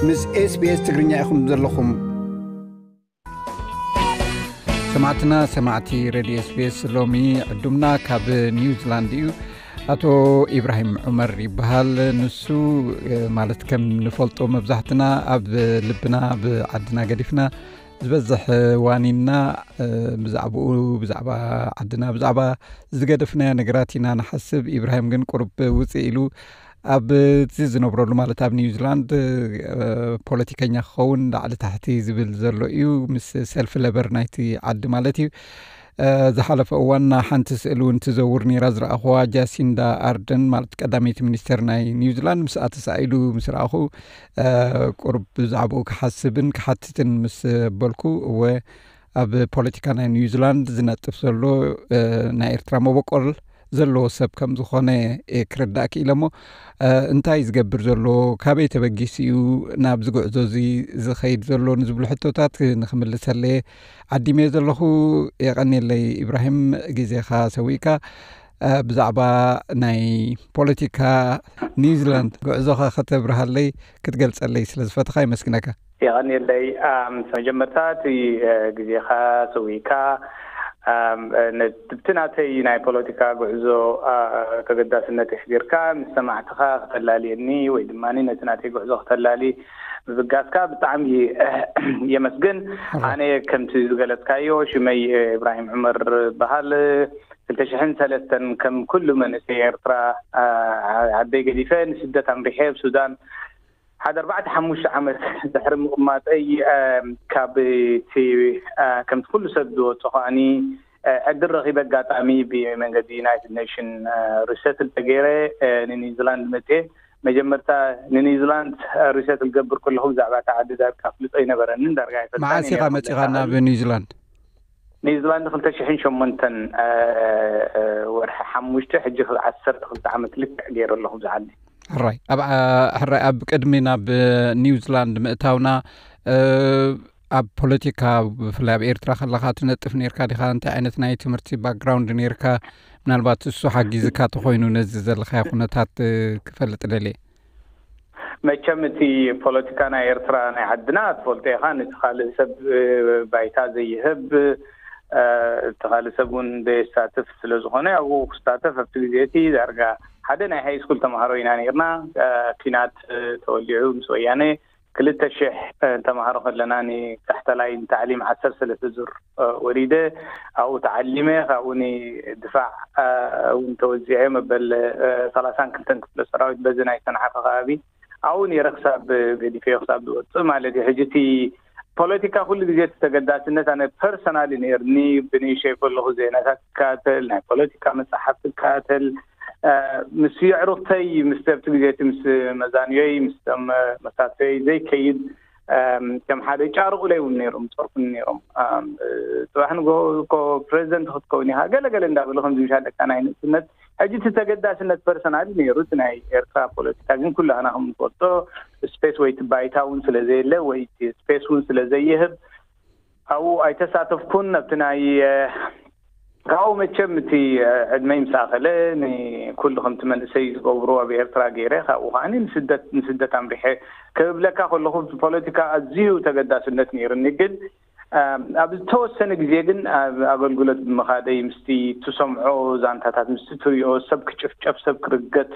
ምስ SBS ትግርኛ ኢኹም ዘለኹም። ሰማዕትና፣ ሰማዕቲ ሬድዮ SBS፣ ሎሚ ዕዱምና ካብ ኒውዚላንድ እዩ። ኣቶ ኢብራሂም ዑመር ይበሃል። ንሱ፣ እ፣ ማለት ከም ንፈልጦ መብዛሕትና ኣብ ልብና ብዓድና ገዲፍና ዝበዝሕ ዋኒንና፣ እ፣ ብዛዕባኡ፣ ብዛዕባ ዓድና፣ ብዛዕባ ዝገደፍናዮ ነገራት ኢና ንሓስብ። ኢብራሂም ግን ቁሩብ ውፅእ ኢሉ ኣብቲ ዝነብረሉ፣ ማለት ኣብ ኒውዚላንድ፣ እ፣ ፖለቲከኛ ክኸውን ላዕሊ ታሕቲ ዝብል ዘሎ እዩ፣ ምስ ሰልፊ ለበር ናይቲ ዓዲ ማለት እዩ። እ፣ ዝሓለፈ እዋን ሓንቲ ስእሊ እውን ትዘውር ነይራ፣ ዝረኣኹዋ፣ ጃሲንዳ ኣርደን ማለት ቀዳመይቲ ሚኒስተር ናይ ኒውዚላንድ፣ ምስኣ ተሳኢሉ ምስ ረኣኹ፣ እ፣ ቁሩብ ብዛዕባኡ ክሓስብን ክሓትትን ምስ በልኩ፣ እወ፣ ኣብ ፖለቲካ ናይ ኒውዚላንድ ዝነጥፍ ዘሎ፣ እ፣ ናይ ኤርትራ መበቆል ዘለዎ ሰብ ከም ዝኾነ፣ እ፣ ክርዳእ ክኢለ እሞ፣ እ፣ እንታይ ዝገብር ዘሎ፣ ካበይ ተበጊሱ እዩ ናብዚ ጉዕዞ እዚ ዝኸይድ ዘሎ ንዝብሉ ሕቶታት ንክምልሰለየ ዓዲመ ዘለኹ። የቐንየለይ ኢብራሂም፣ ግዜኻ ሰዊእካ፣ እ፣ ብዛዕባ ናይ ፖለቲካ ኒውዚላንድ ጉዕዞኻ ከተብርሃለይ፣ ክትገልጸለይ ስለ ዝፈተኻ ይመስግነካ። የቐንየለይ። ኣም፣ መጀመርታ እቲ፣ እ፣ ግዜኻ ሰዊእካ፣ ኣም፣ እ፣ ነ-፣ ብቲ ናተይ ናይ ፖለቲካ ጉዕዞ፣ ኣ፣ ተገዳስነት ኣሕዲርካ ምስ ሰማዕትኻ ክተላልየኒ ወይ ድማ ነቲ ናተይ ጉዕዞ ክተላሊ ምብጋስካ ብጣዕሚ የመስግን። ሕራይ። ኣነ ከምቲ ዝገለጽካዮ ሽመይ፣ እ፣ ኢብራሂም ዑመር በሃል። ክልተ ሽሕን ሰለስተን ከም ኩሉ መንእሰይ ኤርትራ፣ ኣ፣ ዓደይ ገዲፈ ንስደት ኣምሪሐ ኣብ ሱዳን ሓደ ኣርባዕተ ሓሙሽተ ዓመት ድሕሪ ምቕማጠይ፣ እ፣ ካብ እቲ፣ እ፣ ከምቲ ኩሉ ሰብ ዝወጾ ከኣኒ፣ እ፣ ዕድል ረኺበ ኣጋጣሚ ብመንገዲ ዩናይትድ ኔሽን፣ እ፣ ሪሰትል ተገይረ፣ እ፣ ንኒውዚላንድ መጽየ። መጀመርታ ንኒውዚላንድ፣ እ፣ ሪሰትል ገብር ከለኹ ብዛዕባ እታ ዓዲ ዳርጋ ፍልጦ ኣይነበረንን፣ ዳርጋ ኣይፈልጣን መዓስ እየ ኢኻ ነይረ መጺኻ ክብለካ ናብ እኽእል። ኒውዚላንድ? ኒውዚላንድ ክልተ ሽሕን ሸሞንተን፣ እ፣ እ፣ ወርሒ ሓሙሽተ፣ ሕጂ ክል-፣ ዓሰርተ ክልተ ዓመት ልክዕ ገይረ ኣለኹ ብዛ ዓዲ። ሕራይ፣ ኣብ፣ ኣ-፣ ሕራይ፣ ኣብ ቅድሚ ናብ፣ እ፣ ኒውዚላንድ ምእታውና፣ እ፣ ኣብ ፖለቲካ፣ ብፍላይ ኣብ ኤርትራ ከለኻ ትነጥፍ ነይርካ ዲኻ? እንታይ ዓይነት ናይ ትምህርቲ ባክግራውንድ ነይርካ? ምናልባት እሱ ሓጊዝካ ተኾይኑ ነዚ ዘለኻዮ ኩነታት፣ እ፣ ክፈልጥ ደልየ። መቸም እቲ ፖለቲካ ናይ ኤርትራ ናይ ዓድና ትፈልጦ ኢኻ፣ ነቲ ካልእ ሰብ፣ እ፣ ባይታ ዘይህብ፣ እ፣ እቲ ካልእ ሰብ እውን ዘየሳትፍ ስለ ዝኾነ፣ ኣብኡ ክሳተፍ ኣብቲ ግዜ እቲ ዳርጋ ሓደ ናይ ሃይ ስኩል ተምሃሮ ኢና ነይርና። እ፣ ኲናት፣ እ፣ ተወሊዑ ምስ ወያነ ክልተ ሽሕ፣ እ፣ ተምሃሮ ከለና ንታሕተላይ ንታዕሊም ዓሰርተ ሰለስተ ዙር፣ እ፣ ወሪደ፣ ኣብኡ ተዓሊመ፣ ካብኡ ንድፋዕ፣ እ፣ እውን ተወዚዐ፣ መበል፣ እ፣ ሰላሳን ክልተን ክፍለ ሰራዊት በዚ ናይ ሰንዓፈ ከባቢ ኣብኡ ነይረ ክሳብ ገዲፈዮ ክሳብ ዝወፅእ ማለት እዩ። ሕጂ እቲ ፖለቲካ ኩሉ ግዜ እቲ ተገዳስነት ኣነ ፐርሰናሊ ነይርኒ። ብንእሸይ ከለኹ ዜናታት እከታተል፣ ናይ ፖለቲካ መፅሓፍቲ እከታተል፣ እ፣ ምስ የዕሩኽተይ፣ ምስ ኣብቲ ግዜ እቲ ምስ መዛንዮይ፣ ምስ ቶም መሳተዮይ ዘይከይድ፣ እም፣ ከም ሓደ ጫርቑለይ እውን ነይሮም፣ ዝፀርፉኒ ነይሮም። እም፣ እ፣ ጽባሕ ንግሆ እኮ ፕሬዚደንት ክትከውን ኢኻ፣ ገለ ገለ እንዳበሉ ከምዚ ምሻለካ ናይ ንእስነት። ሕጂ እቲ ተገዳስነት ፐርሰናሊ ነይሩ፣ እቲ ናይ ኤርትራ ፖለቲካ ግን ኩላህና ከም ንፈልጦ ስፔስ ወይ እቲ ባይታ እውን ስለ ዘየለ ወይ እቲ ስፔስ እውን ስለ ዘይህብ ኣብኡ ኣይተሳተፍኩን። ኣብቲ ናይ፣ እ፣ ካብኡ መቸም እቲ፣ እ፣ ዕድመይ ምስ ኣኸለ ንኩሉ ከምቲ መንእሰይ ዝገብሩ ኣብ ኤርትራ ገይረ፣ ካብኡ ከዓኒ ንስደት፣ ንስደት ኣምሪሐ። ክብለካ ከለኹ ፖለቲካ ኣዝዩ ተገዳስነት ነይሩኒ፣ ግን፣ እ፣ ኣብ ዝተወሰነ ግዜ ግን ኣብ ኣገልግሎት ብምኻደይ ምስቲ ትሰምዖ ዛንታታት፣ ምስቲ ትሪኦ ሰብ ክጭፍጨፍ፣ ሰብ ክርገጥ፣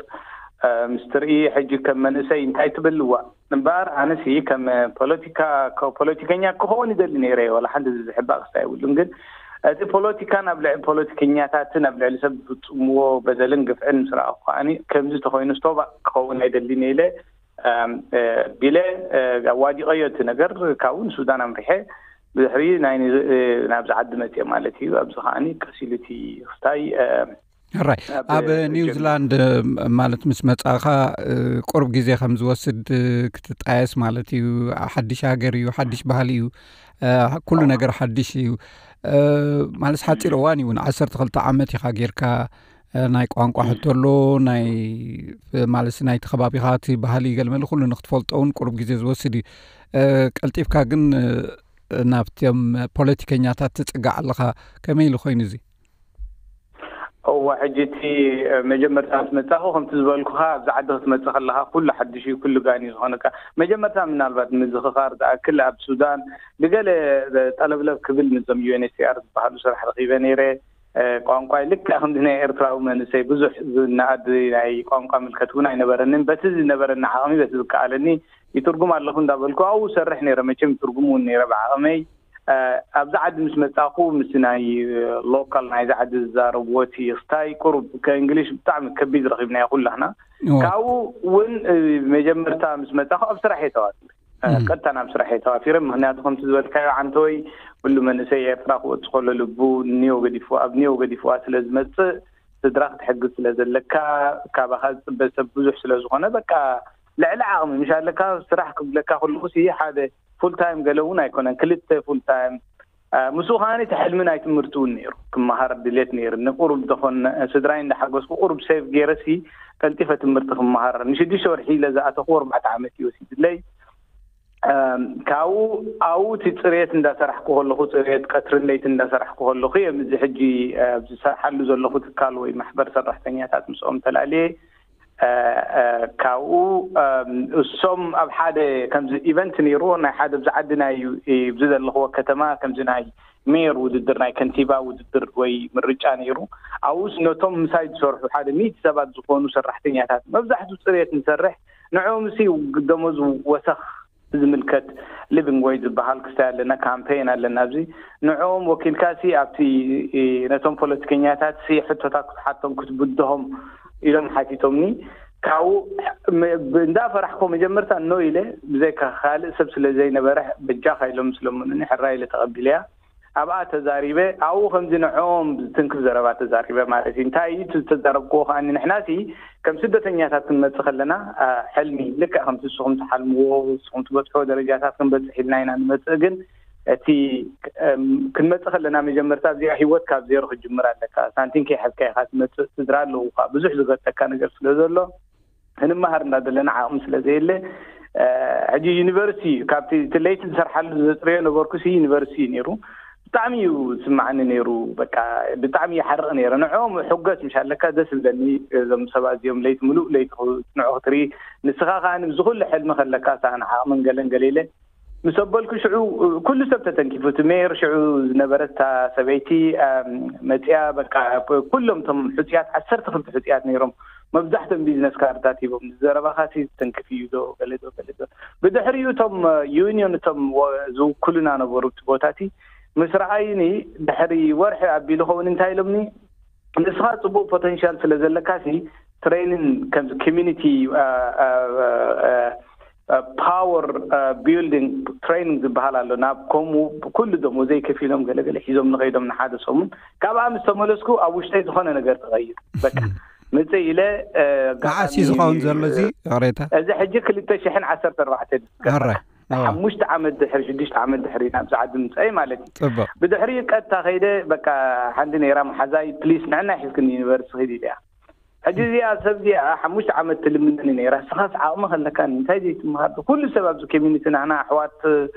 እ፣ ምስ ትርኢ ሕጂ ከም መንእሰይ እንታይ ትብል? እዋ እምበኣር ኣነሲ ከም ፖለቲካ፣ ከ-፣ ፖለቲከኛ ክኸውን ይደሊ ነይረ እየ። ዋላ ሓንቲ ዝሕባእ ክስታይ የብሉን። ግን እቲ ፖለቲካ ናብ ልዕሊ ፖለቲከኛታትን ኣብ ልዕሊ ሰብ ዝፍጽምዎ በደልን ግፍዕን ምስ ረኣኹ ከዓኒ ከምዚ ተኾይኑ ስቶባ ክኸውን ኣይደልን እየ ኢለ፣ እም፣ እ፣ ቢለ፣ እ፣ ኣዋዲቐዮ እቲ ነገር። ካብኡ ንሱዳን ኣምሪሐ ብድሕሪ ናይ ኒ-፣ እ፣ ናብዚ ዓዲ መጽየ ማለት እዩ። ኣብዚ ከዓኒ ቀስ ኢሉ እቲ ክስታይ፣ እ፣ ሕራይ፣ ኣብ ኣብ ኒውዚላንድ፣ እ፣ ማለት ምስ መጻእኻ፣ እ፣ ቁሩብ ግዜ ከም ዝወስድ፣ እ፣ ክትጣየስ ማለት እዩ። ሓድሽ ሃገር እዩ፣ ሓድሽ ባህሊ እዩ፣ እ፣ ኩሉ ነገር ሓድሽ እዩ። እ፣ ማለት ሓጺር እዋን እዩ እውን፣ ዓሰርተ ክልተ ዓመት ኢኻ ጌርካ፣ እ፣ ናይ ቋንቋ ሕቶ ኣሎ፣ ናይ፣ እ፣ ማለት ናይቲ ከባቢኻ እቲ ባህሊ ገለመለ ኩሉ ንክትፈልጦ እውን ቁሩብ ግዜ ዝወስድ እዩ። እ፣ ቀልጢፍካ ግን፣ እ፣ ናብቶም ፖለቲከኛታት ትጽጋዕ ኣለኻ። ከመይ ኢሉ ኮይኑ እዚ? እዋ ሕጂ እቲ መጀመርታ ምስ መጻኹ ከምቲ ዝበልኩኻ ኣብዚ ዓዲ ክትመጽእ ከለኻ ኩሉ ሓድሽ እዩ፣ ኩሉ ጋን እዩ ዝኾነካ። መጀመርታ ምናልባት ምዝኽኻር ዝኣክል ኣብ ሱዳን ብገለ ጠለብለብ ክብል ምስዞም ዩ ኤን ኤች ሲ ኣር ዝበሃሉ ስራሕ ረኺበ ነይረ። ቋንቋይ ልክዕ ከምዚ ናይ ኤርትራዊ መንእሰይ ብዙሕ ዝነኣድ ናይ ቋንቋ ምልከት እውን ኣይነበረንን። በቲ ዝነበረኒ ዓቕሚ በቲ ዝከኣለኒ ይትርጉም ኣለኹ እንዳበልኩ ኣብኡ ሰርሕ ነይረ። መቸም ይትርጉም እውን ነይረ ብዓቕመይ። ኣብዚ ዓዲ ምስ መጻኹ ምስ ናይ ሎካል ናይዚ ዓዲ ዝዛረብዎ እቲ ስታይ ቁሩብ ከእንግሊሽ ብጣዕሚ ከቢድ ረኺብናዮ ኩላህና። ካብኡ እውን መጀመርታ ምስ መጻኹ ኣብ ስራሕ እየ ተዋፊረ። ቀጥታ ናብ ስራሕ እየ ተዋፊረ። ምክንያቱ ከምቲ ዝበልካዮ ዓንተወይ ኩሉ መንእሰይ ኤርትራ ክወጽእ ከሎ ልቡ ኒዮ ገዲፍዋ ኣብ ኒዮ ገዲፍዋ ስለ ዝመጽእ ስድራ ክትሕግዝ ስለ ዘለካ ካባኻ ዝጽበ ሰብ ብዙሕ ስለ ዝኾነ በቃ ልዕሊ ዓቕሚ ምሽ ኣለካ። ስራሕ ክብለካ ከለኹ ሲ ሓደ ፉል ታይም ገለ እውን ኣይኮነን፣ ክልተ ፉል ታይም። ምስኡ ከዓኒ እቲ ሕልሚ ናይ ትምህርቲ እውን ነይሩ፣ ክመሃር ድሌት ነይሩ። ንቁሩብ ዝኾን ስድራይ እንዳሓገዝኩ ቁሩብ ሴቭ ገይረ ሲ ቀልጢፈ ትምህርቲ ክመሃር ንሽዱሽተ ወርሒ ኢለ ዝኣተኹ ኣርባዕተ ዓመት እዩ ወሲድለይ። ካብኡ ኣብኡ እቲ ፅሬት እንዳሰራሕኩ ከለኹ፣ ፅሬት ቀትርን ለይትን እንዳሰራሕኩ ከለኹ እዮም እዚ ሕጂ ዝሰርሓሉ ዘለኹ ትካል ወይ ማሕበር ሰራሕተኛታት ምስኦም ተላልየ። ካብኡ እሶም ኣብ ሓደ ከምዚ ኢቨንት ነይሩ፣ ናይ ሓደ ብዚ ዓዲ ናይ ብዚ ዘለኽዎ ከተማ ከምዚ ናይ ሜየር ውድድር፣ ናይ ከንቲባ ውድድር ወይ ምርጫ ነይሩ። ኣብኡስ ነቶም ምሳይ ዝሰርሑ ሓደ ሚእቲ ሰባት ዝኾኑ ሰራሕተኛታት፣ መብዛሕትኡ ፅሬት ንሰርሕ፣ ንዕኦም ሲ ደሞዝ ወሰኽ ዝምልከት ሊቪንግ ዌጅ ዝበሃል ክስታይ ኣለና፣ ካምፔን ኣለና። ኣብዚ ንዕኦም ወኪልካ ሲ ኣብቲ ነቶም ፖለቲከኛታት ሲ ሕቶታት ክትሓቶም ክትብድሆም ኢሎም ሓቲቶምኒ። ካብኡ እንዳፈራሕኮ መጀመርታ ኖ ኢለ፣ ብዘይካ ካልእ ሰብ ስለ ዘይነበረ በጃኻ ኢሎም ስለምኑኒ ሕራ ኢለ ተቐቢለያ። ኣብኣ ተዛሪበ፣ ኣብኡ ከምዚ ንዕኦም ዝትንክፍ ዘረባ ተዛሪበ ማለት እዩ። እንታይ እዩ እቲ ዝተዛረብክዎ ከኣ ንሕናሲ ከም ስደተኛታት ክንመጽእ ከለና ሕልሚ ልክዕ ከምቲ ንስኹም ትሓልምዎ ንስኹም ትበጽሕዎ ደረጃታት ክንበጽሕ ኢልና ኢና ንመጽእ። ግን እቲ ክንመጽእ ከለና መጀመርታ እዚኣ ህይወት ካብ ዜሮ ክትጅምር ኣለካ። ሳንቲም ከይሓዝካ ኢኻ ትመጽእ። ስድራ ኣለውካ። ብዙሕ ዝገጠካ ነገር ስለ ዘሎ ክንመሃር እንዳደለና ዓቕሚ ስለ ዘየለ ሕጂ ዩኒቨርሲቲ እዩ። ካብቲ እቲ ለይቲ ዝሰርሓሉ ዘፅርዮ ነበርኩ ሲ ዩኒቨርሲቲ እዩ ነይሩ። ብጣዕሚ እዩ ዝስማዓኒ ነይሩ። በቃ ብጣዕሚ ይሓርቕ ነይረ። ንዕኦም ሕጎስ ምሽ ኣለካ ደስ ዝብለኒ። እዞም ሰባት እዚኦም ለይቲ ምሉእ ለይቲ ንዑ ክትርኢ፣ ንስኻ ከዓ ንብዚ ኩሉ ሕልሚ ከለካ ሰኣን ዓቕምን ገለን ገሌለ ምስ ኣበልኩ ሽዑ ኩሉ ሰብ ተተንኪፉ። እቲ ሜየር ሽዑ ዝነበረት እታ ሰበይቲ መፅያ በቃ ኩሎም እቶም ሕፅያት ዓሰርተ ክልተ ሕፅያት ነይሮም። መብዛሕትኦም ቢዝነስ ካርድታት ሂቦም። ዘረባኻሲ ዝተንክፍ እዩ ዶ ገለ ዶ ገለ ዶ። ብድሕሪኡ እቶም ዩኒዮን እቶም ዝውክሉና ነበሩ እቲ ቦታቲ ምስ ረኣዩኒ ድሕሪ ወርሒ ኣቢሉ ኸውን እንታይ ኢሎምኒ፣ ንስኻ ፅቡቅ ፖተንሻል ስለ ዘለካ ሲ ትሬኒን ከምዚ ኮሚኒቲ ፓወር ቢልዲንግ ትሬኒንግ ዝበሃል ኣሎ። ናብ ከምኡ ኩሉ ደሞዘይ ከፊሎም ገለገለ ሒዞም ንኸይዶም ንሓደ ሰሙን ካብኣ ምስ ተመለስኩ ኣብ ውሽጠይ ዝኾነ ነገር ተቐይሩ። በቃ ምጽእ ኢለ መዓስ እዩ ዝኸውን ዘሎ እዚ ቅሬታ? እዚ ሕጂ ክልተ ሽሕን ዓሰርተ ኣርባዕተን ሕራይ ሓሙሽተ ዓመት ድሕሪ ሽዱሽተ ዓመት ድሕሪ ናብዚ ዓዲ ምፅኣይ ማለት እዩ። ፅቡቅ ብድሕሪኡ ቀጥታ ከይደ በቃ ሓንቲ ነይራ መሓዛይ ፕሊስ ንዕና ሒዝክኒ ዩኒቨርሲቲ ኺድ ኢለያ። ሕጂ እዚኣ ሰብ እዚኣ ሓሙሽተ ዓመት ትልምነኒ ነይራ። ስኻስ ዓቕሚ ከለካ እንታይ ዘይትምሃር? ኩሉ ሰብ ኣብዚ ኮሚኒቲ ናህና ኣሕዋት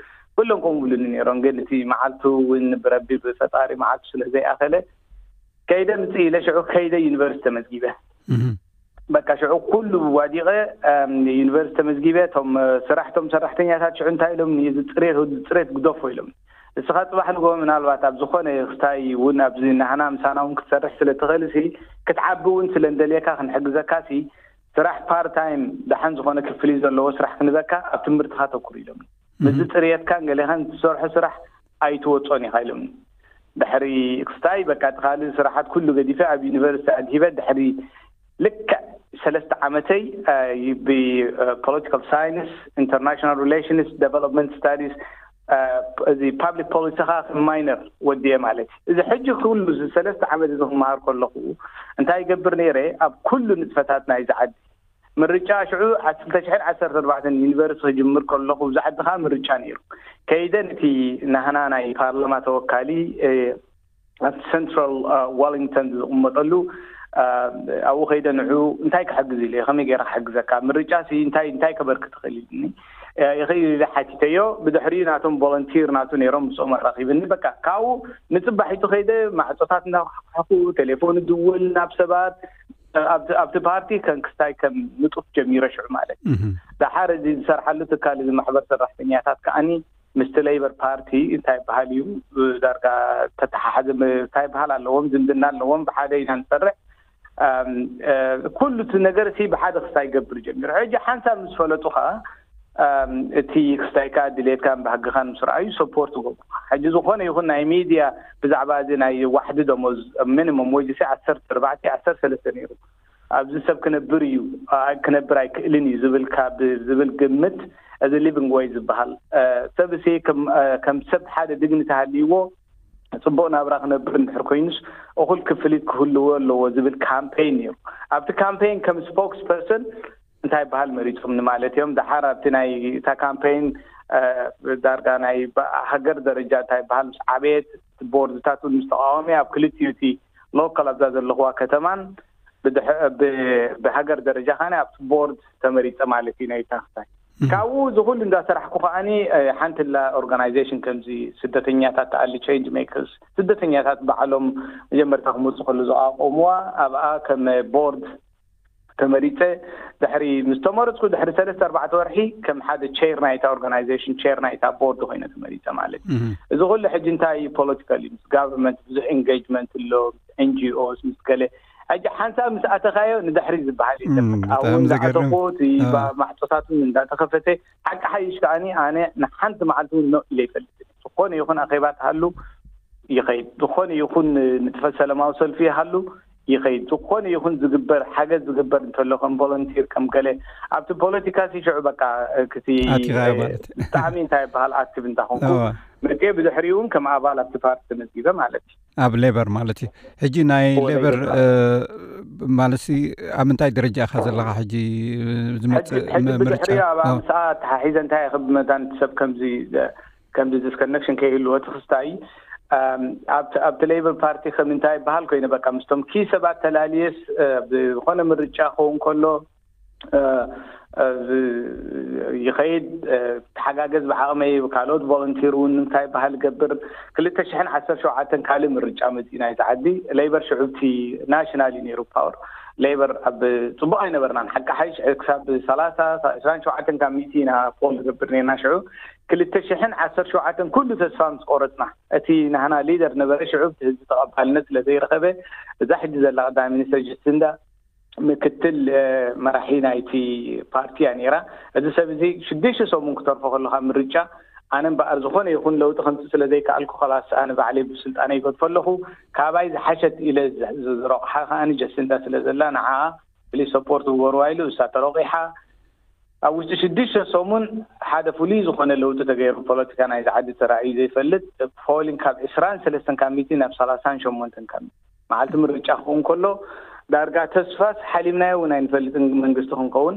ኩሎም ከምኡ ብሉኒ ነይሮም። ግን እቲ መዓልቱ እውን ብረቢ ብፈጣሪ መዓልቱ ስለ ዘይኣኸለ ከይደ ምፅእ ኢለ ሽዑ ከይደ ዩኒቨርሲቲ ተመዝጊበ። በቃ ሽዑ ኩሉ ዋዲቐ ዩኒቨርሲቲ ተመዝጊበ። እቶም ስራሕቶም ሰራሕተኛታት ሽዑ እንታይ ኢሎም፣ እዚ ፅሬት ወዲ ፅሬት ግደፎ ኢሎም። እስኻ ፅባሕ ንጎ ምናልባት ኣብ ዝኾነ ክስታይ እውን ኣብዚ ናህና ምሳና እውን ክትሰርሕ ስለ ትኽእል ሲ ክትዓቢ እውን ስለ እንደልየካ ክንሕግዘካ ሲ ስራሕ ፓርት ታይም ደሓን ዝኾነ ክፍሊ ዘለዎ ስራሕ ክንበካ ኣብ ትምህርትኻ ተኩር ኢሎም። ምስዚ ፅርየትካን ገሌኻን ትሰርሖ ስራሕ ኣይትወፆን ኢኻ ኢሎምኒ። ድሕሪ ክስታይ በቃ እቲ ካልእ ስራሓት ኩሉ ገዲፈ ኣብ ዩኒቨርሲቲ ኣድሂበ ድሕሪ ልክዕ ሰለስተ ዓመተይ ብፖለቲካል ሳይንስ ኢንተርናሽናል ሪሌሽንስ ዴቨሎፕመንት ስታዲስ እዚ ፓብሊክ ፖሊሲ ካ ማይነር ወዲየ ማለት እዩ። እዚ ሕጂ ኩሉ እዚ ሰለስተ ዓመት እዚ ክመሃር ከለኹ እንታይ ይገብር ነይረ ኣብ ኩሉ ንጥፈታት ናይዚ ዓዲ ምርጫ ሽዑ ክልተ ሽሕን ዓሰርተ ኣርባዕተን ዩኒቨርሲቲ ክጅምር ከለኹ ኣብዚ ዓዲ ከዓ ምርጫ ነይሩ። ከይደ ነቲ ናህና ናይ ፓርላማ ተወካሊ ኣብቲ ሰንትራል ዋሊንግተን ዝቕመጠሉ ኣብኡ ከይደ ንዑ እንታይ ክሕግዝ ኢለ ከመይ ገይረ ክሕግዘካ ምርጫ ሲ እንታይ እንታይ ከበርክ ትኽእል ኢልኒ። ይኽእል ኢለ ሓቲተዮ። ብድሕሪኡ ናቶም ቮለንቲር ናቱ ነይሮም፣ ምስኦም ኣራኺብኒ። በቃ ካብኡ ንጽባሒቱ ከይደ፣ ማዕጾታት እናኳሕኳሕኩ፣ ቴሌፎን እድውል ናብ ሰባት። ኣብቲ ኣብቲ ፓርቲ ከም ክስታይ ከም ንጡፍ ጀሚረ ሽዑ ማለት እዩ። እህ። ደሓር እዚ ዝሰርሓሉ ትካል፣ እዚ ማሕበር ሰራሕተኛታት ከኣኒ ምስቲ ሌበር ፓርቲ እንታይ ይበሃል እዩ፣ ዳርጋ ተተሓሓዘ ም-፣ እንታይ ይበሃል ኣለዎም፣ ዝምድና ኣለዎም። ብሓደ ኢና ንሰርሕ። ኣም፣ እ፣ ኩሉ እቲ ነገር ሲ ብሓደ ክስታይ ይገብር ጀሚሩ። ሕጂ ሓንሳብ ምስ ፈለጡ ኸዓ፣ ኣም፣ እቲ ክስታይካ ድሌትካን ባህግኻን ምስ ረኣዩ ሰፖርት ይገብሩኻ። ሕጂ ዝኾነ ይኹን ናይ ሚድያ ብዛዕባ እዚ ናይ ዋሕዲ ደሞዝ፣ ሚኒመም ዌጅ ሲ ዓሰርተ ኣርባዕተ፣ ዓሰርተ ሰለስተ ነይሩ። ኣብዚ ሰብ ክነብር እዩ፣ ኣ-፣ ክነብር ኣይክእልን እዩ ዝብል ካብ ዝብል ግምት፣ እዚ ሊቪንግ ዌጅ ዝበሃል፣ እ፣ ሰብ ሲ ከም፣ እ፣ ከም ሰብ ሓደ ዲግኒቲ ሃልይዎ ጽቡቕ ናብራ ክነብር እንድሕር ኮይኑስ፣ እኹል ክፍሊት ክህልዎ ኣለዎ ዝብል ካምፔይን ነይሩ። ኣብቲ ካምፔይን ከም ስፖክስ ፐርሰን እንታይ ይበሃል መሪጾምኒ ማለት እዮም። ደሓር ኣብቲ ናይ እታ ካምፔይን፣ እ፣ ዳርጋ ናይ ባ-፣ ሃገር ደረጃ እንታይ ይበሃል ምስ ዓበየት፣ ቦርድታት እውን ምስ ተቃወመ፣ ኣብ ክልቲኡ እቲ ሎካል ኣብዛ ዘለኽዋ ከተማን ብድሕ-፣ ብ-፣ ብሃገር ደረጃ ኸነ ኣብቲ ቦርድ ተመሪጸ ማለት እዩ ናይ እታ ክስታይ። እህ። ካብኡ እዚ ኩሉ እንዳሰራሕኩ ከኣኒ፣ እ፣ ሓንቲ ላ ኦርጋናይዜሽን ከምዚ ስደተኛታት ትኣሊ፣ ቼንጅ ሜከርስ፣ ስደተኛታት ባዕሎም መጀመርታ ክመጹ ከሉ ዝኣቆምዋ፣ ኣብኣ ከም ቦርድ ተመሪጸ። ድሕሪ ምስ ተመረጽኩ ድሕሪ ሰለስተ ኣርባዕተ ወርሒ ከም ሓደ ቼር ናይታ ኦርጋናይዜሽን፣ ቼር ናይታ ቦርድ ኮይነ ተመሪጸ ማለት እዩ። እህ። እዚ ኩሉ ሕጂ እንታይ እዩ? ፖለቲካል እዩ። ምስ ጋቨርንመንት ብዙሕ ኤንጌጅመንት ኣሎ፣ ምስ ኤን ጂ ኦስ፣ ምስ ገለ። ሕጂ ሓንሳብ ምስ ኣተኻዮ ንድሕሪ ዝበሃል እዩ። እም፣ ዘበት። ኣብኡ ብጣዕሚ ዘገርም። እንዳኣተኹ እቲ ባ-፣ ማዕጾታት እውን እንዳተኸፈተ፣ ሓቂ ሓይሽ ከኣኒ ኣነ ንሓንቲ መዓልቲ እውን ኖ ኢለ ይፈልጥ። ዝኾነ ይኹን ኣኼባ ተሃሉ ይኸይድ፣ ዝኾነ ይኹን ንጥፈት ሰላማዊ ሰልፊ ይሃሉ ይኸይድ፣ ዝኾነ ይኹን ዝግበር ሓገዝ ዝግበር እንተሎ ከም ቮለንቲር ከም ገለ ኣብቲ ፖለቲካ ሲ ሽዑ በቃ ክቲ ኣቲኻዮ ማለት። ብጣዕሚ እንታይ ይበሃል ኣክቲቭ እንታ ኮንኩ እዋ። መጤ ብድሕሪኡ እውን ከም ኣባል ኣብቲ ፓርቲ ተመዝጊበ ማለት እዩ። ኣብ ሌበር ማለት እዩ። ሕጂ ናይ ሌበር፣ እ፣ ማለት ሲ ኣብ ምንታይ ደረጃ ኢኻ ዘለኻ ሕጂ? ዝመጽእ ሕጂ፣ ሕጂ ም-፣ ምርጫ? ብድሕሪኡ ኣብ ኣዎ። ኣምስኣ ተሓሒዘ እንታይ ኢኺ ብመታን ሰብ ከምዚ፣ ከምዚ ዲስኮነክሽን ከይህልዎ ትኽስታይ፣ ኣም፣ ኣብቲ፣ ኣብቲ ሌበር ፓርቲ ከም እንታይ ይበሃል ኮይነ በቃ ምስቶም ኪ ሰባት ተላልየስ፣ እ፣ ብዝኾነ ምርጫ ክኸውን ከሎ፣ እ፣ እ፣ ዝ-፣ ይኸይድ፣ እ፣ ተሓጋገዝ ብዓቕመይ ካልኦት ቮለንቲር እውን እንታይ ይበሃል ገብር። ክልተ ሽሕን ዓሰርተ ሸውዓተን ካልእ ምርጫ መጺኡ ናይዚ ዓዲ ሌበር ሽዑብቲ ናሽናል እዩ ነይሩ ፓወር። ሌበር ኣብ ጽቡቕ ኣይነበርናን። ሓቂ ሓይሽ ክሳብ ሰላሳ፣ ዕስራን ሸውዓተን ካብ ሚእቲ ኢና ፖል ንገብር ነርና ሽዑ። ክልተ ሽሕን ዓሰርተ ሸውዓተን ኩሉ ተስፋ ምስ ቆረጽና፣ እቲ ናህና ሊደር ነበረ ሽዑ፣ እቲ ህዝቢ ተቐባልነት ስለ ዘይረኸበ፣ እዛ ሕጂ ዘላ ቀዳማይ ሚኒስተር ጀሲንዳ ምክትል፣ እ፣ መራሒ ናይቲ ፓርቲ እያ ነይራ። እዚ ሰብ እዚ ሽዱሽተ ሰሙን ክተርፎ ከሎ ካብ ምርጫ፣ ኣነ እምበኣር ዝኾነ ይኹን ለውጢ ከምጽእ ስለ ዘይከኣልኩ፣ ከላስ ኣነ ባዕለይ ብስልጣነይ ይገድፎ ኣለኹ። ካባይ ዝሓሸት ኢለ ዝ-፣ ዝ-፣ ዝረቑሓ ከኣ ጀሲንዳ ስለ ዘላ፣ ንዓኣ ፍሉይ ሰፖርት ግበርዋ ኢሉ፣ እሳ ተረቑሓ። ኣብ ውሽጢ ሽዱሽተ ሰሙን ሓደ ፍሉይ ዝኾነ ለውጢ ተገይሩ፣ ፖለቲካ ናይዚ ዓዲ ተራእዩ ዘይፈልጥ፣ ፖሊንግ ካብ ዕስራን ሰለስተን ካብ ሚእቲ ናብ ሰላሳን ሸሞንተን ካብ ሚእቲ። መዓልቲ ምርጫ ክኸውን ከሎ፣ ዳርጋ ተስፋስ ሓሊምናዮ እውን ኣይንፈልጥን መንግስቲ ክንከውን።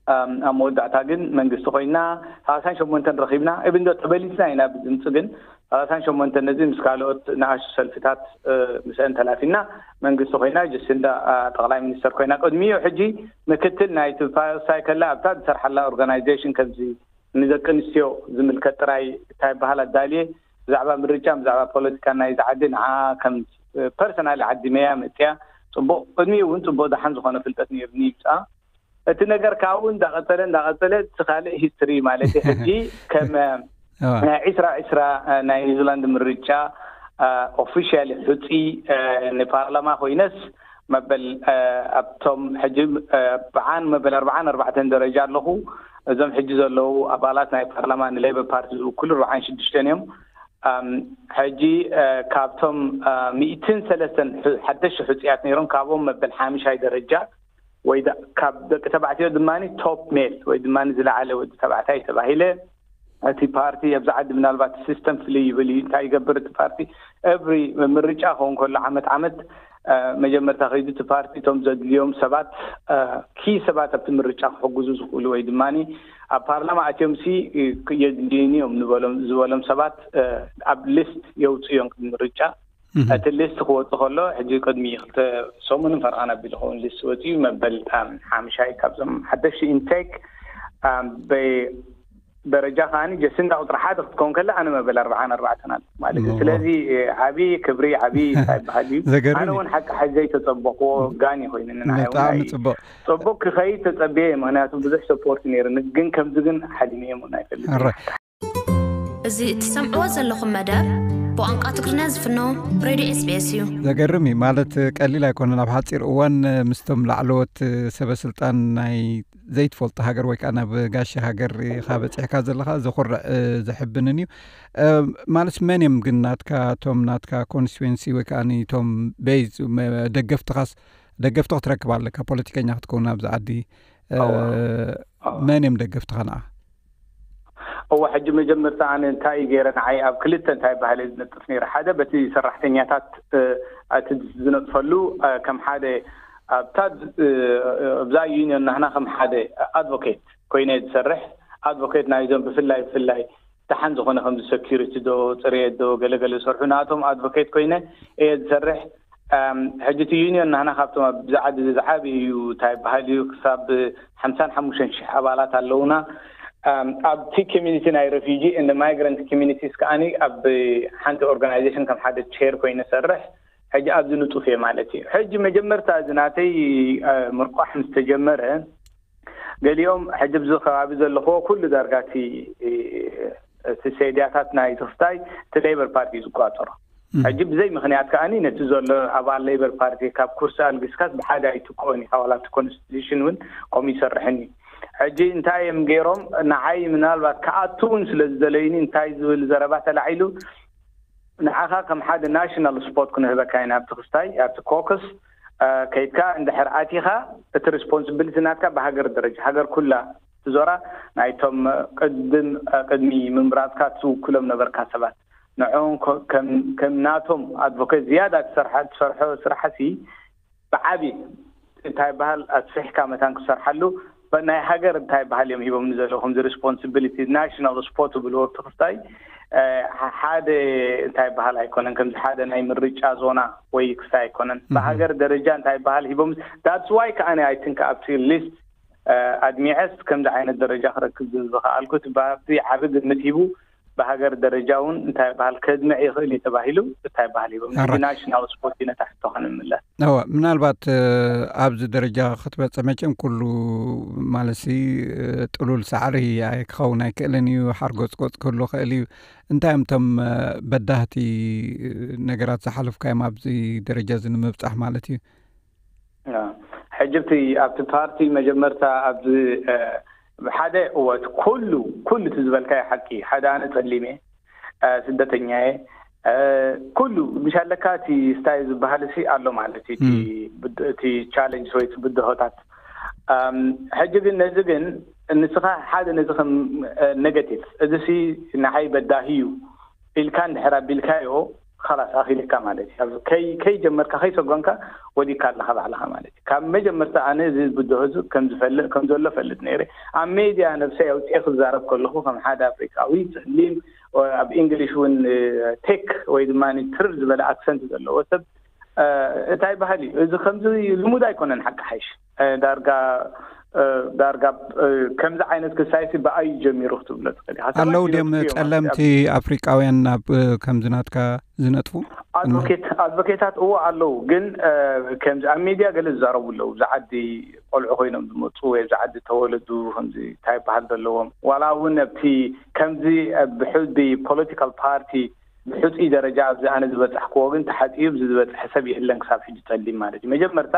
ኣም፣ ኣብ መወዳእታ ግን መንግስቲ ኮይና፣ ሰላሳን ሸሞንተን ረኺብና፣ እብን ዶ ተበሊጽና ኢና ብድምጺ፣ ግን ሰላሳን ሸሞንተን ነዚ ምስ ካልኦት ንኣሽቱ ሰልፍታት፣ እ፣ ምስአን ተላፊና መንግስቲ ኮይና፣ ጀሲንዳ፣ ኣ፣ ጠቕላይ ሚኒስተር ኮይና። ቅድሚኡ ሕጂ ምክትል ናይቲ ፓ-፣ ሳይከላ ኣብታ ዝሰርሓላ ኦርጋናይዜሽን ከምዚ ንደቂ ኣንስትዮ ዝምልከት ጥራይ እንታይ ይበሃል ኣዳልየ፣ ብዛዕባ ምርጫ፣ ብዛዕባ ፖለቲካ ናይዚ ዓዲ ንዓ ከም፣ እ፣ ፐርሰናል ዓዲመያ መጽያ። ጽቡቕ፣ ቅድሚኡ እውን ጽቡቕ ደሓን ዝኾነ ፍልጠት ነይሩኒ ይብጻ። እቲ ነገር ካብኡ እንዳቐጸለ፣ እንዳቐጸለ፣ እቲ ካልእ ሂስትሪ ማለት እዩ። ሕጂ ከም፣ ኣዋ። ናይ ዕስራ ዕስራ፣ እ፣ ናይ ኒውዚላንድ ምርጫ፣ እ፣ ኦፊሻሊ ሕጹይ፣ እ፣ ንፓርላማ ኮይነስ መበል፣ እ፣ ኣብቶም ሕጂ፣ እ፣ ኣርብዓን መበል ኣርብዓን ኣርባዕተን ደረጃ ኣለኹ። እዞም ሕጂ ዘለዉ ኣባላት ናይ ፓርላማ ንሌበር ፓርቲ ዝውክሉ ኣርብዓን ሽዱሽተን እዮም። ኣም፣ ሕጂ፣ እ፣ ካብቶም፣ እ፣ ሚእትን ሰለስተን ሕ-፣ ሓደሽቲ ሕጹያት ነይሮም፣ ካብኦም መበል ሓምሻይ ደረጃ ወይ ዳ-፣ ካብ ደቂ ተባዕትዮ ድማ ቶፕ ሜል ወይ ድማ ዝለዓለ ወዲ ተባዕታይ ተባሂለ። እቲ ፓርቲ ኣብዚ ዓዲ ምናልባት ሲስተም ፍልይ ይብል እዩ። እንታይ ይገብር እቲ ፓርቲ? ኤቭሪ ምርጫ ክኸውን ከሎ ዓመት ዓመት፣ እ፣ መጀመርታ ከይዱ እቲ ፓርቲ እቶም ዘድልዮም ሰባት፣ እ፣ ኪ ሰባት ኣብቲ ምርጫ ክሕግዙ ዝኽእሉ ወይ ድማ ኣብ ፓርላማ ኣትዮም ሲ፣ እ፣ የድልዩኒ እዮም ንበሎም፣ ዝበሎም ሰባት፣ እ፣ ኣብ ሊስት የውፅኡ እዮም ቅድሚ ምርጫ። እህ። እቲ ሊስት ክወጽእ ከሎ፣ ሕጂ ቅድሚ ክልተ ሰሙንን ፈርቓን ኣቢሉ ክኸውን ሊስት ወጺኡ፣ መበል፣ ኣም፣ ሓምሻይ ካብዞም ሓደሽቲ ኢንቴክ፣ ኣም፣ በ-፣ ደረጃ ከዓኒ ጀስንዳ ቁፅሪ ሓደ ክትከውን ከላ ኣነ መበል ኣርባዓን ኣርባዕተን ኣሎ ማለት እዩ። ስለዚ ዓብዪ ክብሪ ዓብዪ ይበሃል እዩ። ኣነ እውን ሓቂ ሓዚ ዘይተፀበኽዎ ጋን ይኮይኑ ንዓይ እውን ብጣዕሚ ናይ ፅቡቅ። ፅቡቅ ክኸይድ ተፀብየ እየ። ምክንያቱ ብዙሕ ሰፖርት ነይርኒ፣ ግን ከምዚ ግን ሓሊመ እየ ምና ይፈልጥ። እዚ እትሰምዕዎ ዘለኹም መደብ ብቋንቋ ትግርኛ ዝፍኖ ሬድዮ ኤስቢኤስ እዩ። ዘገርም እዩ። ማለት ቀሊል ኣይኮነን። ኣብ ሓፂር እዋን ምስቶም ላዕለዎት ሰበ ስልጣን ናይ ዘይትፈልጦ ሃገር ወይ ከዓ ናብ ጋሻ ሃገር ኢኻ በፂሕካ ዘለኻ ዘኹርዕ ዘሕብንን እዩ። ማለት መን እዮም ግን ናትካ፣ እቶም ናትካ ኮንስቲትዌንሲ ወይ ከዓ ቶም ቤዝ ደገፍትኻስ፣ ደገፍቲ ክትረክብ ኣለካ ፖለቲከኛ ክትከውን ኣብዚ ዓዲ። መን እዮም ደገፍትኻ ንዓ? እወ ሕጂ መጀመርታ ኣነ እንታይ እዩ ገይረ ንዓይ ኣብ ክልተ እንታይ ባህለ ዝነጥፍ ነይረ። ሓደ በቲ ሰራሕተኛታት እቲ ዝነጥፈሉ ከም ሓደ ኣብታ ኣብዛ ዩኒዮን ናህና ከም ሓደ ኣድቮኬት ኮይነ ዝሰርሕ ኣድቮኬት ናይዞም ብፍላይ ብፍላይ ደሓን ዝኾነ ከምዚ ሰኪሪቲ ዶ ፅሬት ዶ ገለገለ ዝሰርሑ ናቶም ኣድቮኬት ኮይነ እየ ዝሰርሕ። ሕጂ እቲ ዩኒዮን ናህና ካብቶም ኣብዚ ዓዲ እዚ ዝዓቢ እዩ እንታይ ይበሃል እዩ ክሳብ ሓምሳን ሓሙሽተን ሽሕ ኣባላት ኣለውና። ኣብቲ ኮሚኒቲ ናይ ረፊጂ እንደ ማይግራንት ኮሚኒቲስ ከዓኒ ኣብ ሓንቲ ኦርጋናይዜሽን ከም ሓደ ቸር ኮይነ ሰርሕ። ሕጂ ኣብዚ ንጡፍ እየ ማለት እዩ። ሕጂ መጀመርታ እዚ ናተይ ምርቋሕ ምስ ተጀመረ ገሊኦም ሕጂ ብዚ ከባቢ ዘለኽዎ ኩሉ ዳርጋ እቲ እቲ ሴድያታት ናይ ትኽስታይ እቲ ሌበር ፓርቲ እዩ ዝቋፀሮ። ሕጂ ብዘይ ምክንያት ከዓኒ ነቲ ዘሎ ኣባል ሌበር ፓርቲ ካብ ኩርሲ ኣልግስካስ ብሓደ ኣይትክኦን ኢኻ ዋላ እቲ ኮንስቲቱሽን እውን ከምኡ ይሰርሕን እዩ። ሕጂ እንታይ እዮም ገይሮም ንዓይ ምናልባት ክኣቱ እውን ስለ ዝደለዩኒ እንታይ ዝብል ዘረባ ተላዒሉ ንዓኻ ከም ሓደ ናሽናል ስፖት ክንህበካ ኢና ኣብቲ ክስታይ ኣብቲ ኮክስ ከይድካ እንድሕር ኣቲኻ እቲ ሪስፖንስብሊቲ ናትካ ብሃገር ደረጃ ሃገር ኩላ ትዞራ ናይቶም ቅድም ቅድሚ ምምራፅካ ትውክሎም ነበርካ ሰባት ንዕኦም ከም ናቶም ኣድቮኬት ዝያዳ ትሰርሖ ስራሕሲ ብዓቢ እንታይ በሃል ኣስፊሕካ መታን ክሰርሓሉ ናይ ሃገር እንታይ በሃል እዮም ሂቦም ዘለኹም ዚ ሪስፖንስብሊቲ ናሽናል ስፖርት ብልዎ ትኽስታይ ሓደ እንታይ በሃል ኣይኮነን ከምዚ ሓደ ናይ ምርጫ ዞና ወይ ክስታይ ኣይኮነን ብሃገር ደረጃ እንታይ በሃል ሂቦም that's why ከዓነ I think ኣብቲ ሊስት ኣድሚዐስ ከምዚ ዓይነት ደረጃ ክረክብ ዝኸኣልኩት ብሃብቲ ዓቢ ግምት ሂቡ ብሃገር ደረጃ እውን እንታይ በሃል ከድምዕ ይኽእል እዩ ተባሂሉ እንታይ በሃል ሂቦም ሕጂ ናሽናል ስፖርት እዩ ነታ ሕቶ ከንምለስ። እወ ምናልባት ኣብዚ ደረጃ ክትበፅሕ መቸም ኩሉ ማለትሲ ጥሉል ሳዕሪ ክኸውን ኣይክእልን እዩ። ሓርጎፅጎፅ ክህሉ ይኽእል እዩ። እንታይ እዮም እቶም በዳህቲ ነገራት ዝሓለፍካዮም ኣብዚ ደረጃ እዚ ንምብፃሕ ማለት እዩ? ሕጂ ኣብቲ ኣብቲ ፓርቲ መጀመርታ ኣብዚ ሓደ እወ እቲ ኩሉ ኩሉ እቲ ዝበልካዮ ሓቂ ሓደ ኣነ ፀሊም እየ ስደተኛ እየ ኩሉ ምሽ ኣለካ እቲ ስታይ ዝበሃል ሲ ኣሎ ማለት እዩ እቲ ቻለንጅ ወይ ብድሆታት ሕጂ ግን ነዚ ግን ንስኻ ሓደ ነዚ ከም ኔጋቲቭ እዚ ሲ ንዓይ በዳሂ እዩ ኢልካ እንድሕር ኣቢልካዮ ኻላስ ኣኺልካ ማለት እዩ። ከይ ከይ ጀመርካ ከይ ሰጎንካ ወዲካ ኣለኻ ባዕልኻ ማለት እዩ። ካብ መጀመርታ ኣነ እዚ ብድሆ እዚ ከም ዝፈልጥ ከም ዘሎ ፈልጥ ነይረ። ኣብ ሜድያ ነብሰይ ኣውፅኤ ክዛረብ ከለኹ ከም ሓደ ኣፍሪቃዊ ፀሊም ኣብ እንግሊሽ እውን ቴክ ወይ ድማ ትርር ዝበለ ኣክሰንት ዘለዎ ሰብ እንታይ ባህል እዩ እዚ ከምዚ ልሙድ ኣይኮነን ሓቂ ሓይሽ ዳርጋ ዳርጋ ከምዚ ዓይነት ክሳይሲ ብኣዩ ጀሚሩ ክትብሎ ትኽእል ኣለዉ ድም ጸለምቲ ኣፍሪቃውያን ናብ ከምዚ ናትካ ዝነጥፉ ኣድቮኬታት እዎ ኣለዉ ግን ከምዚ ኣብ ሚድያ ገለ ዝዛረቡ ኣለዉ ብዚ ዓዲ ቆልዑ ኮይኖም ዝመፁ ወይ ብዚ ዓዲ ተወለዱ ከምዚ እንታይ ይበሃል ዘለዎም ዋላ እውን ኣብቲ ከምዚ ብሕቢ ፖለቲካል ፓርቲ ብሕፁይ ደረጃ ኣብዚ ኣነ ዝበፃሕክዎ ግን ተሓፂዩ ብዚ ዝበፅሐ ሰብ የለን ክሳብ ሕጂ ፀሊም ማለት እዩ መጀመርታ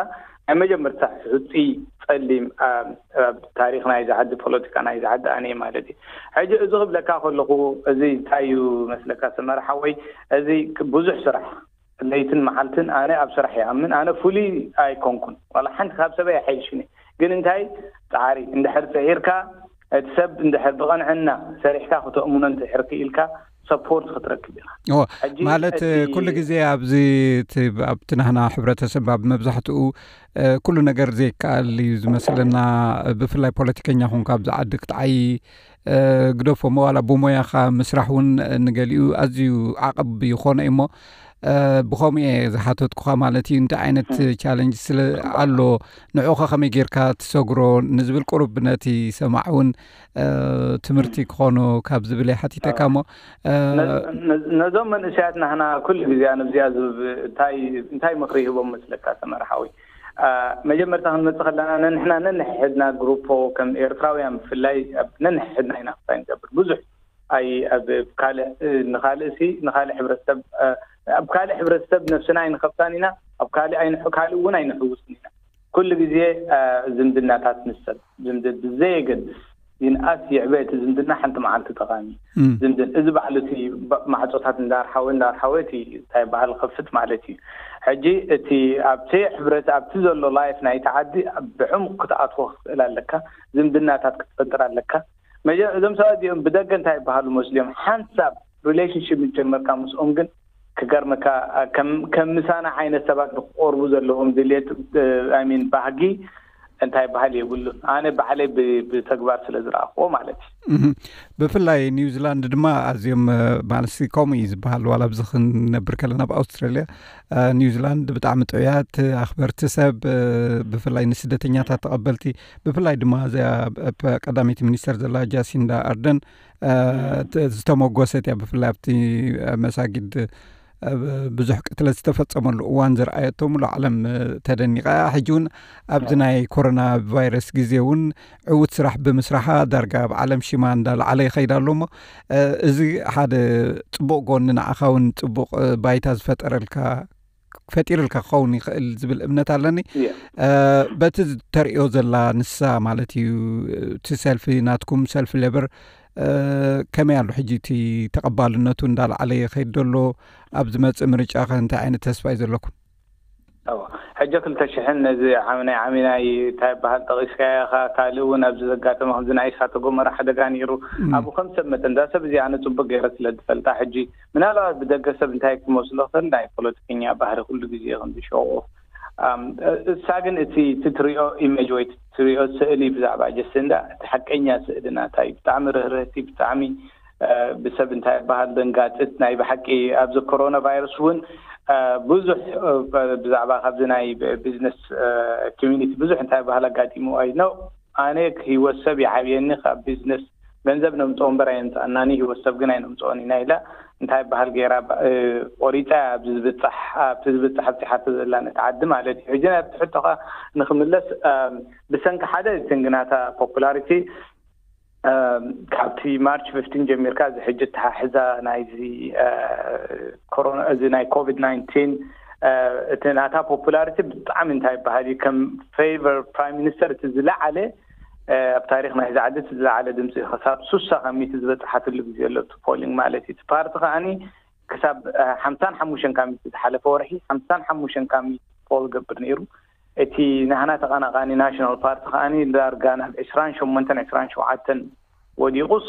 ናይ መጀመርታ ሕፁይ ፀሊም ኣብ ታሪክ ናይ ዝዓዲ ፖለቲካ ናይ ዝዓዲ ኣነ ማለት እዩ ሕጂ እዚ ክብለካ ከለኩ እዚ እንታይ እዩ መስለካ ሰመረ ሓወይ እዚ ብዙሕ ስራሕ ለይትን መዓልትን ኣነ ኣብ ስራሕ ይኣምን ኣነ ፍሉይ ኣይኮንኩን ዋላ ሓንቲ ካብ ሰበይ ኣይሓይሽኒ ግን እንታይ ፃዕሪ እንድሕር ፅዒርካ እቲ ሰብ እንድሕር ብቐንዕና ሰሪሕካ ክተእምኖ እንድሕር ክኢልካ ሰፖርት ክትረክብ ኢኻ ማለት ኩሉ ግዜ ኣብዚ ኣብቲ ናህና ሕብረተሰብ ኣብ መብዛሕትኡ ኩሉ ነገር ዘይከኣል እዩ ዝመስለና። ብፍላይ ፖለቲከኛ ኹንካ ኣብዚ ዓዲ ክትዓይ ግደፎ፣ መዋላ ብሞያኻ ምስራሕ እውን ንገሊኡ ኣዝዩ ዓቐብ ይኾነ እዩ። እሞ ብኸምኡ እየ ዝሓተትኩኻ ማለት እዩ። እንታይ ዓይነት ቻለንጅ ስለ ኣሎ፣ ንዕኡ ከ ከመይ ጌርካ ትሰግሮ ንዝብል ቁሩብ ነቲ ሰማዕ እውን ትምህርቲ ክኾኖ ካብ ዝብል እየ ሓቲተካ። እሞ ነዞም መንእሰያት ናህና ኩሉ ግዜ ኣነ ብዚኣ እንታይ እንታይ ምኽሪ ይህቦም መስለካ ሰመርሓዊ? መጀመርታ ክንመፅእ ከለና ነንሕና ነንሕድና ግሩፖ ከም ኤርትራውያን ብፍላይ ነንሕድና ኢና ክሳይ ንገብር ብዙሕ ኣይ ኣብ ካልእ ንኻልእ ሲ ንኻልእ ሕብረተሰብ ኣብ ካልእ ሕብረተሰብ ነብስና ኣይንኸብሳን ኢና። ኣብ ካልእ ኣይንሕ ካልእ እውን ኣይንሕውስን ኢና። ኩሉ ግዜ ዝምድናታት ንሰብ ዝምድ ብዘየገድስ ይንኣስ ይዕበ እቲ ዝምድና ሓንቲ መዓልቲ ጠቓሚ ዝምድን እዚ ባዕሉ እቲ ማዕፆታት እንዳርሓወ እንዳርሓወ እቲ እንታይ በሃል ከፍት ማለት እዩ። ሕጂ እቲ ኣብቲ ሕብረት ኣብቲ ዘሎ ላይፍ ናይቲ ዓዲ ብዕሙቕ ክትኣትዎ ክትኽእል ኣለካ። ዝምድናታት ክትፈጥር ኣለካ። መጀ እዞም ሰባት እዚኦም ብደገ እንታይ ይበሃሉ መስልዮም ሓንሳብ ሪሌሽንሽፕ ጀመርካ ምስኦም ግን ክገርመካ ከም ምሳና ዓይነት ሰባት ንክቆርቡ ዘለዎም ድሌት ሚን ባህጊ እንታይ በሃል የብሉን። ኣነ ባዕለይ ብተግባር ስለ ዝረኣኽዎ ማለት እዩ። ብፍላይ ኒውዚላንድ ድማ ኣዝዮም ማለት ከምኡ እዩ ዝበሃል። ዋላ ኣብዚ ክንነብር ከለና ኣብ ኣውስትራልያ ኒውዚላንድ ብጣዕሚ ጥዑያት ኣኽበርቲ ሰብ፣ ብፍላይ ንስደተኛታት ተቐበልቲ፣ ብፍላይ ድማ እዚኣ ቀዳመይቲ ሚኒስተር ዘላ ጃሲንዳ ኣርደን ዝተመጎሰት እያ። ብፍላይ ኣብቲ መሳጊድ ብዙሕ ቅትለት ዝተፈጸመሉ እዋን ዝረኣየቶ ሙሉ ዓለም ተደኒቓ። ሕጂ እውን ኣብዚ ናይ ኮሮና ቫይረስ ግዜ እውን ዕዉት ስራሕ ብምስራሓ ዳርጋ ኣብ ዓለም ሽማ እንዳለዓለ ይኸይድ ኣሎ። እሞ እዚ ሓደ ጽቡቕ ጎኒ ንዓኻ እውን ጽቡቕ ባይታ ዝፈጠረልካ ፈጢርልካ ክኸውን ይኽእል ዝብል እምነት ኣለኒ። በቲ ተርእዮ ዘላ ንሳ ማለት እዩ፣ እቲ ሰልፊ ናትኩም ሰልፊ ሌበር ከመይ ኣሎ ሕጂ እቲ ተቐባልነቱ እንዳለዓለ ይኸይድ ዘሎ? ኣብ ዝመጽእ ምርጫ ከ እንታይ ዓይነት ተስፋ እዩ ዘለኩም? ሕጂ ክልተ ሽሕን ነዚ ናይ ዓሚናይ እንታይ በሃል ጠቒስካዮ ኢኻ። ካልእ እውን ኣብዚ ዘጋጠመ ከምዚ ናይ እሳተ ጎመራ ሓደጋ ነይሩ። ኣብኡ ከም ሰብ መጠን እዛ ሰብ እዚኣ ኣነ ጽቡቅ ገይረ ስለ ዝፈልጣ ሕጂ ምናልባት ብደገ ሰብ እንታይ ክመስሎ ክእል ናይ ፖለቲከኛ ባህሪ ኩሉ ግዜ ከም ዝሸቁ እሳ ግን እቲ እቲ ትሪኦ ኢሜጅ ወይ ትሪኦ ስእሊ ብዛዕባ ጀስንዳ እቲ ሓቀኛ ስእሊ ናታ እዩ። ብጣዕሚ ርህርህቲ፣ ብጣዕሚ ብሰብ እንታይ በሃል ደንጋፅት ናይ ብሓቂ ኣብዚ ኮሮና ቫይረስ እውን ብዙሕ ብዛዕባ ካብዚ ናይ ቢዝነስ ኮሚኒቲ ብዙሕ እንታይ በሃል ኣጋጢሙ ኣይ ነው ኣነ ህይወት ሰብ ይዓብየኒ ካብ ቢዝነስ ገንዘብ ነምፅኦ እምበር ኣየምፅኣናኒ ህይወት ሰብ ግን ኣይነምፅኦን ኢና ኢላ እንታይ በሃል ገይራ ቆሪፃ ኣብዚ ዝብፃሕ ኣብቲ ዝብፃሕ ኣብፂሓቶ ዘላ ነቲ ዓዲ ማለት እዩ። ሕጂ ናብቲ ሕቶኻ ንክምለስ ብሰንኪ ሓደ እቲ ግናታ ፖፑላሪቲ ካብቲ ማርች ፍፍቲን ጀሚርካ እዚ ሕጂ ተሓሕዛ ናይዚ ኮሮና እዚ ናይ ኮቪድ ናይንቲን እቲ ናታ ፖፑላሪቲ ብጣዕሚ እንታይ ይበሃል እዩ ከም ፌቨር ፕራይም ሚኒስተር እቲ ዝለዓለ ኣብ ታሪክ ናይ ዝዓዲ እቲ ዝለዓለ ድምፂ ክሳብ ሱሳ ካብ ሚእቲ ዝበፅሓትሉ ግዜ ኣሎ እቲ ፖሊንግ ማለት እዩ። እቲ ፓርቲ ከዓኒ ክሳብ ሓምሳን ሓሙሽተን ካብ ሚእቲ ዝሓለፈ ወርሒ ሓምሳን ሓሙሽተን ካብ ሚእቲ ፖል ገብር ነይሩ። እቲ ናህና ተቐናቓኒ ናሽናል ፓርቲ ከዓኒ ዳርጋ ናብ ዕስራን ሸሞንተን ዕስራን ሸውዓተን ወዲቑስ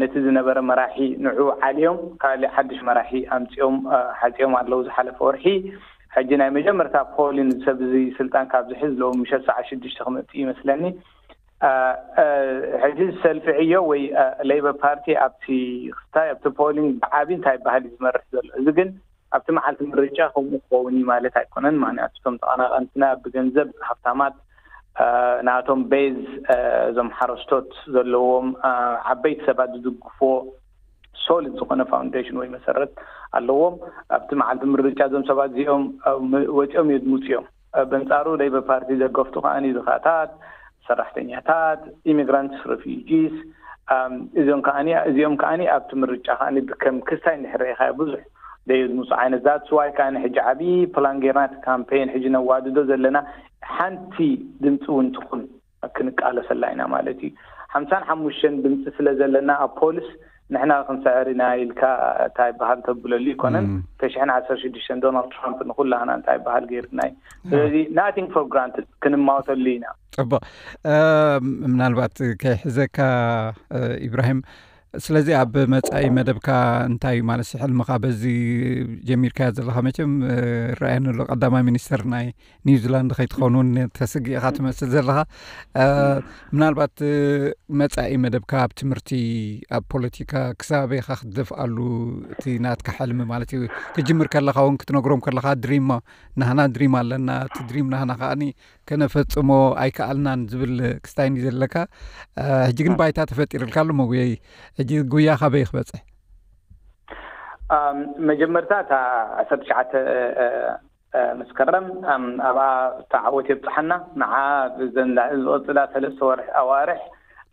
ነቲ ዝነበረ መራሒ ንዑ ዓልዮም ካልእ ሓድሽ መራሒ ኣምፅኦም ሓፂኦም ኣለዉ ዝሓለፈ ወርሒ። ሕጂ ናይ መጀመርታ ፖሊን ሰብ እዚ ስልጣን ካብ ዝሕዝ ሎሚ ምሸት ሰዓት ሽዱሽተ ክመፅእ ይመስለኒ። ሕጂ ሰልፊ ዕዮ ወይ ሌበር ፓርቲ ኣብቲ ክስታይ ኣብቲ ፖሊንግ ብዓቢ እንታይ በሃል እዩ ዝመርሕ ዘሎ። እዚ ግን ኣብቲ መዓልቲ ምርጫ ከምኡ ክኸውን እዩ ማለት ኣይኮነን። ምክንያቱ እቶም ተቐናቐንትና ብገንዘብ ሃብታማት ናቶም ቤዝ እዞም ሓረስቶት ዘለዎም ዓበይቲ ሰባት ዝድግፍዎ ሶሊድ ዝኾነ ፋውንዴሽን ወይ መሰረት ኣለዎም። ኣብቲ መዓልቲ ምርጫ እዞም ሰባት እዚኦም ወፂኦም የድምፁ እዮም። በንፃሩ ሌበር ፓርቲ ዘገፍቱ ከዓኒ ድኻታት፣ ሰራሕተኛታት፣ ኢሚግራንትስ፣ ሬፊጂስ እዚኦም ከዓኒ እዚኦም ከዓኒ ኣብቲ ምርጫ ከዓኒ ብከም ክስታይ እንድሕር ርኢኻዮ ብዙሕ ደየድምፁ ዓይነት that's why ከዓኒ ሕጂ ዓብዪ ፕላን ጌርና እቲ ካምፔን ሕጂ ነዋድዶ ዘለና ሓንቲ ድምፂ እውን ትኹን ክንቃለሰላ ኢና ማለት እዩ። ሓምሳን ሓሙሽተን ድምፂ ስለ ዘለና ኣብ ፖልስ ንሕና ክንስዕር ኢና ኢልካ እንታይ በሃል ተብለሉ ይኮነን። ተሽሕን ዓሰርተ ሽዱሽተን ዶናልድ ትራምፕ ንኩላህና እንታይ በሃል ገይርና እዩ። ስለዚ nothing for granted ክንማወተሉ ኢና። ፅቡቅ። ምናልባት ከይሕዘካ ኢብራሂም ስለዚ ኣብ መጻኢ መደብካ እንታይ እዩ ማለት ሕልምኻ በዚ ጀሚርካዮ ዘለኻ? መቸም እ፣ ይረኣየኒ ኣሎ ቀዳማይ ሚኒስተር ናይ ኒውዚላንድ ከይትኸውን እውን ተስግእ ኢኻ ትመስል ዘለኻ። እ፣ ምናልባት እ፣ መጻኢ መደብካ ኣብ ትምህርቲ፣ ኣብ ፖለቲካ ክሳበይ ኢኻ ክትደፍኣሉ እቲ ናትካ ሕልሚ ማለት እዩ? ክጅምር ከለኻ እውን ክትነግሮም ከለኻ ድሪም ናህና ድሪም ኣለና፣ እቲ ድሪም ናህና ከዓኒ ከነፈጽሞ ኣይከኣልናን ዝብል ክስታይ እንዲ ዘለካ። እ፣ ሕጂ ግን ባይታ ተፈጢርልካ ኣሎ መጉየይ። ሕጂ ጉያ ካበይ ክበጽሕ? መጀመርታ እታ ዓሰርተ ትሽዓተ መስከረም ኣብኣ ተዓወት የብፅሓና። ንዓ ብዘን ዝቐፅላ ሰለስተ ወርሒ ኣዋርሕ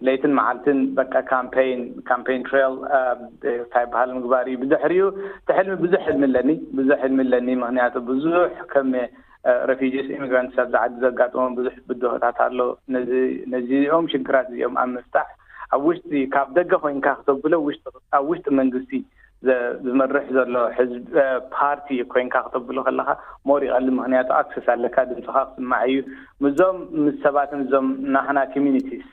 ለይትን መዓልትን በቃ ካምፔን ካምፔን ትሬል እንታይ በሃል ምግባር እዩ። ብድሕሪኡ እቲ ሕልሚ ብዙሕ ሕልሚ ኣለኒ ብዙሕ ሕልሚ ኣለኒ። ምክንያቱ ብዙሕ ከም ረፊጂስ ኢሚግራንትስ ኣብዚ ዓዲ ዘጋጥሞም ብዙሕ ብድሆታት ኣሎ። ነዚኦም ሽግራት እዚኦም ኣብ ምፍታሕ ኣብ ውሽጢ ካብ ደገ ኮይንካ ክተብሎ ኣብ ውሽጢ መንግስቲ ዝመርሕ ዘሎ ሕዝቢ ፓርቲ ኮይንካ ክተብሎ ከለካ ሞር ይቐል። ምክንያቱ ኣክሰስ ኣለካ ድምፅካ ክስማዕ እዩ። ምዞም ምስ ሰባትን እዞም ናህና ኮሚኒቲስ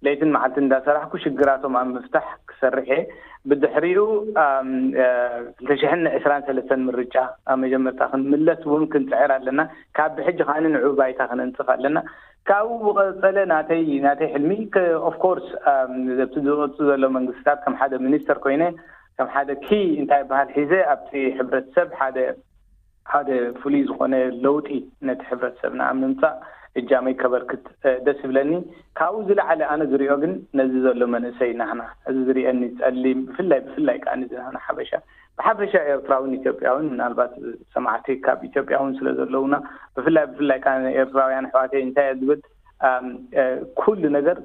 ለይትን መዓልቲ እንዳሰራሕኩ ሽግራቶም ኣብ ምፍታሕ ክሰርሕ እየ። ብድሕሪኡ ክልተ ሽሕን ዕስራን ሰለስተን ምርጫ ኣብ መጀመርታ ክንምለስ እውን ክንፅዕር ኣለና። ካብ ብሕጂ ከዓኒ ንዑ ባይታ ክነንፅፍ ኣለና። ካብኡ ብቐፀለ ናተይ ናተይ ሕልሚ ኦፍኮርስ ኣብቲ ዝወፁ ዘሎ መንግስታት ከም ሓደ ሚኒስተር ኮይነ ከም ሓደ ኪ እንታይ በሃል ሒዘ ኣብቲ ሕብረተሰብ ሓደ ሓደ ፍሉይ ዝኾነ ለውጢ ነቲ ሕብረተሰብና ኣብ ምምፃእ እጃመይ ከበርክት ደስ ይብለኒ። ካብኡ ዝለዓለ ኣነ ዝሪኦ ግን ነዚ ዘሎ መንእሰይ ናህና እዚ ዝሪአኒ ፀሊም ብፍላይ ብፍላይ ከዓ እዚ ናህና ሓበሻ ብሓፈሻ ኤርትራውን ኢትዮጵያውን ምናልባት ሰማዕቲ ካብ ኢትዮጵያ እውን ስለ ዘለውና ብፍላይ ብፍላይ ከዓ ኤርትራውያን ኣሕዋተይ እንታይ እየ ዝብል ኩሉ ነገር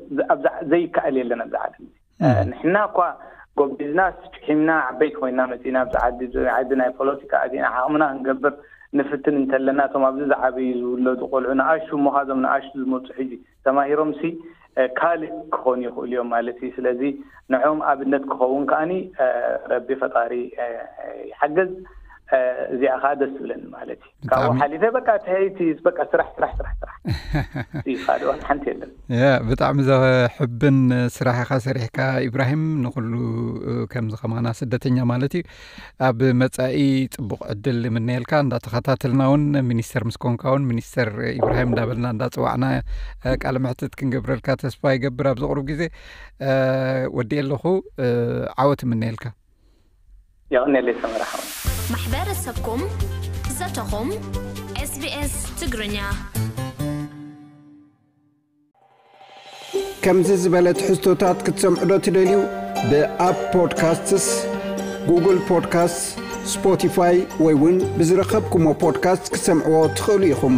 ዘይከኣል የለን ኣብዚ ዓለም እዚ። ንሕና እኳ ጎቢዝና ጭሒምና ዓበይቲ ኮይና መፂና ኣብዚ ዓዲ እዚ ዓዲ ናይ ፖለቲካ ኣዚና ዓቕምና ክንገብር ንፍትን እንተለና እቶም ኣብዚ ዝዓበዩ ዝውለዱ ቆልዑ ንኣሹ እሞ ካዞም ንኣሹ ዝመፁ ሕጂ ተማሂሮም ሲ ካልእ ክኾኑ ይኽእሉ እዮም ማለት እዩ። ስለዚ ንዕኦም ኣብነት ክኸውን ከዓኒ ረቢ ፈጣሪ ይሓገዝ። እዚኣ ከዓ ደስ ትብለኒ ማለት እዩ። ካብኡ ሓሊፈ በቃ ትሀይቲ በቃ ስራሕ ስራሕ ስራሕ ስራሕ ካልእ ዋላ ሓንቲ የለን። ያ ብጣዕሚ ዘሕብን ስራሕ ኢኻ ሰሪሕካ ኢብራሂም። ንኩሉ ከምዚ ከማና ስደተኛ ማለት እዩ ኣብ መጻኢ ጽቡቕ ዕድል ንምነየልካ። እንዳተኸታተልና እውን ሚኒስተር ምስ ኮንካ እውን ሚኒስተር ኢብራሂም እንዳበልና እንዳጽዋዕና ቃለ መሕትት ክንገብረልካ ተስፋ ይገብር። ኣብዚ ቁሩብ ግዜ ወዲ ኣለኹ ዓወት እምነየልካ። የቐንየለይ ሰመረ ሓወይ። ማሕበረሰብኩም ዘተኹም ኤስቢኤስ ትግርኛ። ከምዚ ዝበለ ትሕዝቶታት ክትሰምዑ ዶ ትደልዩ? ብኣፕ ፖድካስትስ፣ ጉግል ፖድካስትስ፣ ስፖቲፋይ ወይ እውን ብዝረኸብኩሞ ፖድካስት ክትሰምዕዎ ትኽእሉ ኢኹም።